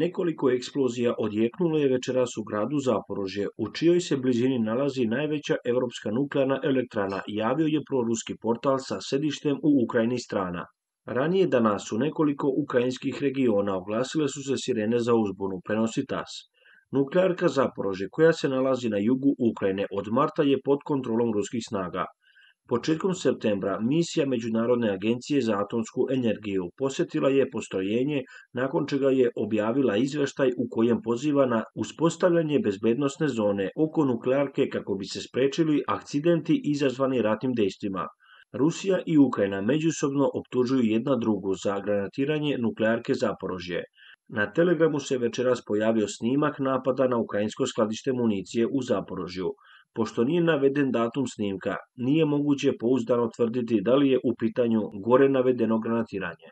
Nekoliko eksplozija odjeknulo je večeras u gradu Zaporožje, u čijoj se blizini nalazi najveća europska nuklearna elektrana, javio je proruski portal sa sedištem u Ukrajini strana. Ranije danas u nekoliko ukrajinskih regiona oglasile su se sirene za uzbunu, prenosi TASS. Nuklearka Zaporožje, koja se nalazi na jugu Ukrajine, od marta je pod kontrolom ruskih snaga. Početkom septembra misija Međunarodne agencije za atomsku energiju posjetila je postrojenje, nakon čega je objavila izveštaj u kojem poziva na uspostavljanje bezbednosne zone oko nuklearke kako bi se sprečili akcidenti izazvani ratnim dejstvima. Rusija i Ukrajina međusobno optužuju jedna drugu za granatiranje nuklearke Zaporožje. Na Telegramu se večeras pojavio snimak napada na ukrajinsko skladište municije u Zaporožju. Pošto nije naveden datum snimka, nije moguće pouzdano tvrditi da li je u pitanju gore navedeno granatiranje.